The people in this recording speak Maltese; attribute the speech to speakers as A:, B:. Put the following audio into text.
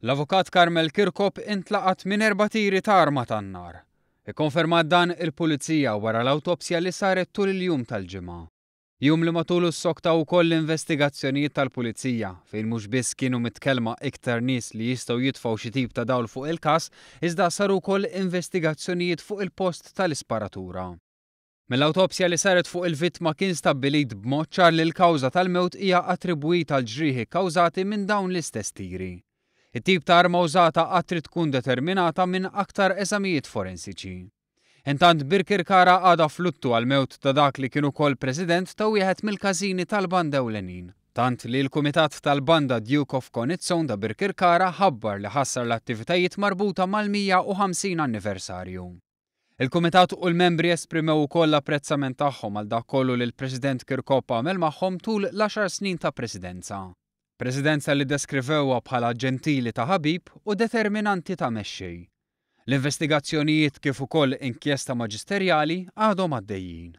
A: L-Avukat Carmel Chircop intlaqat minn erba' tiri ta' arma tan-nar. Ikkonfermat dan il-Pulizija wara l-awtopsja li saret tul il-jum tal-Ġimgħa. Jum li matulu ssoktaw ukoll l-investigazzjonijiet tal-Pulizija, fejn mhux biss kienu mitkellma iktar nies li jistgħu jitfgħu xi tip ta' dawl fuq il-każ, iżda saru wkoll investigazzjonijiet fuq il-post tal-isparatura. Mill-awtopsja li saret fuq il-vittma kien stabbilit b'mod ċar li l-kawża tal-mewt hija attribwita għal ġrieħi kkawżati minn dawn l-istess tiri. It-tip ta' arma użata għad trid tkun determinata minn aktar eżamijiet forensiċi. Intant Birkirkara għadha f'luttu għall-mewt ta' dak li kien ukoll president ta' wieħed mill-każini tal-banda ewlenin. Tant li l-Kumitat tal-Banda Duke of Coniston ta' Birkirkara ħabbar li ħassar l-attivitajiet marbuta mal-150 anniversarju. Il-Kumitat u l-membri esprimew ukoll l-apprezzament tagħhom għal dak kollu li l-President Chircop għamel magħhom tul l-għaxar snin ta' presidenza. Presidenza li ddeskrivewha bħala ġentili ta' ħabib u determinanti ta' mexxej. L-investigazzjonijiet kif ukoll inkjesta maġisterjali għadhom għaddejjin.